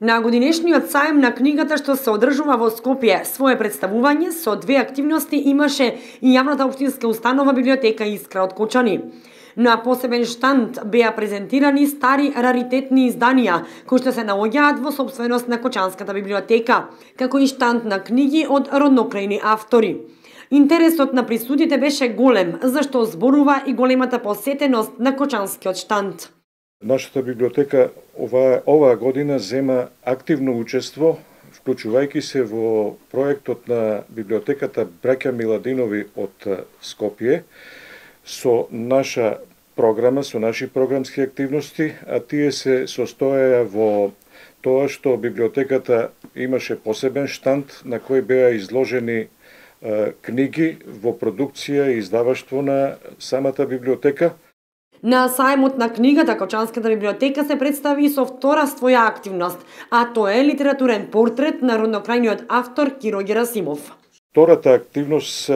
На годинешниот саем на книгата што се одржува во Скопје, свое представување со две активности имаше и јавната општинска установа библиотека Искра од Кочани. На посебен штанд беа презентирани стари раритетни изданија кои што се наоѓаат во сопственост на Кочанската библиотека, како и штанд на книги од роднокрајни автори. Интересот на присутите беше голем, зашто зборува и големата посетеност на Кочанскиот штанд. Нашата библиотека оваа година зема активно учество, вклучувајќи се во проектот на библиотеката Браќа Миладинови од Скопје, со наша програма, со наши програмски активности, а тие се состоеа во тоа што библиотеката имаше посебен штанд на кој беа изложени книги во продукција и издаваштво на самата библиотека. На сајмот на книгата Кочанската библиотека се представи со втора своја активност, а тоа е литературен портрет на роднокрајниот автор Киро Герасимов. Втората активност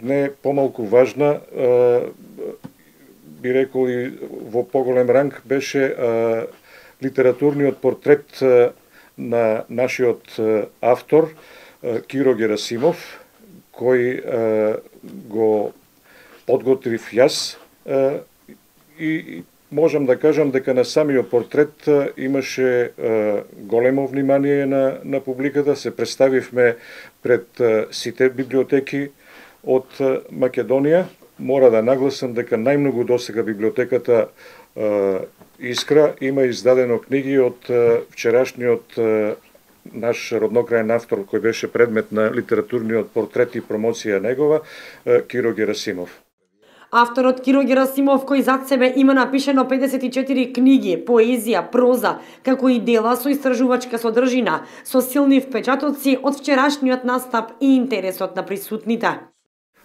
не помалку важна, би рекол и во поголем ранг, беше литературниот портрет на нашиот автор Киро Герасимов, кој го подготвив јас, и можам да кажам дека на самиот портрет имаше големо внимание на публиката. Се представивме пред сите библиотеки од Македонија. Мора да нагласам дека најмногу досега библиотеката Искра има издадено книги од вчерашниот наш роднокрајен автор кој беше предмет на литературниот портрет и промоција негова, Киро Герасимов. Авторот Киро Герасимов, кој зад себе има напишено 54 книги, поезија, проза, како и дела со истражувачка содржина, со силни впечатоци од вчерашниот настап и интересот на присутните.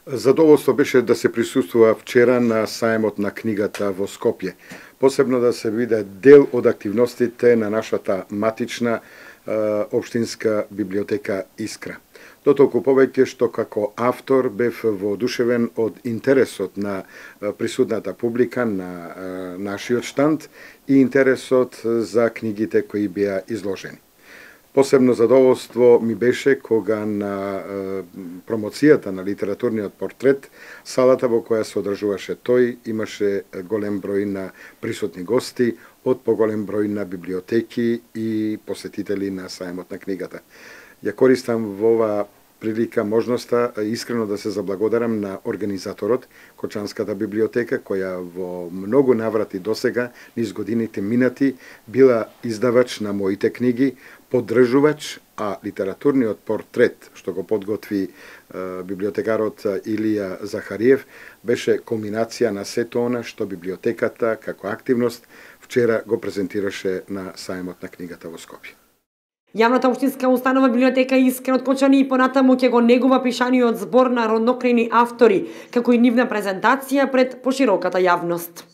Задоволство беше да се присуствува вчера на саемот на книгата во Скопје. Посебно да се виде дел од активностите на нашата матична општинска библиотека Искра. Дотолку повеќе што како автор бев воодушевен од интересот на присутната публика на нашиот штанд и интересот за книгите кои беа изложени. Посебно задоволство ми беше кога на промоцијата на литературниот портрет, салата во која се одржуваше тој, имаше голем број на присутни гости од поголем број на библиотеки и посетители на саемот на книгата. Ја користам во ова прилика можноста искрено да се заблагодарам на организаторот Кочанската библиотека, која во многу наврати досега низ годините минати била издавач на моите книги, поддржувач, а литературниот портрет што го подготви библиотекарот Илија Захариев беше кулминација на сето она што библиотеката како активност вчера го презентираше на саемот на книгата во Скопје. Јавната општинска установа библиотека Искра од Кочани и понатаму ќе го негува пишаниот збор на роднокрајни автори, како и нивна презентација пред пошироката јавност.